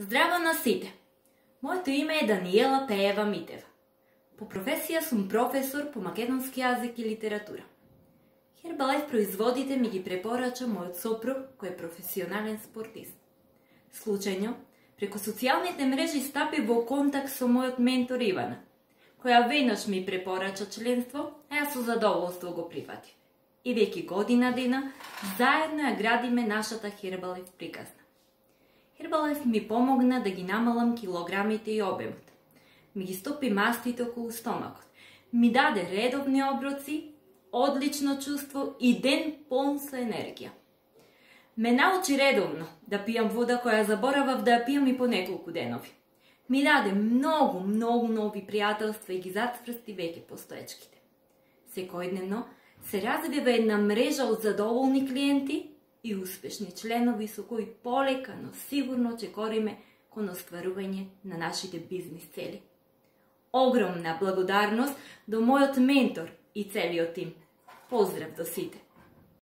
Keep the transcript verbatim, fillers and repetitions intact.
Здраво на сите! Моето име е Даниела Пеева Митева. По професија сум професор по македонски јазик и литература. Herbalife производите ми ги препорача мојот сопруг, кој е професионален спортист. Случајно, преку социјалните мрежи стапи во контакт со мојот ментор Ивана, која веднаш ми препорача членство, а јас со задоволство го прифатив. И веќе година дена, заедно ја градиме нашата Herbalife приказна. Herbalife ми помогна да ги намалам килограмите и обемот. Ми ги стопи мастите околу стомакот. Ми даде редовни оброци, одлично чувство и ден полн со енергија. Ме научи редовно да пијам вода која заборавав да ја пијам и по неколку денови. Ми даде многу, многу нови пријателства и ги затврсти веќе постоечките. Секојдневно се развива една мрежа од задоволни клиенти и успешни членови со кои полека, но сигурно ќе кориме кон остварување на нашите бизнис цели. Огромна благодарност до мојот ментор и целиот тим. Поздрав до сите!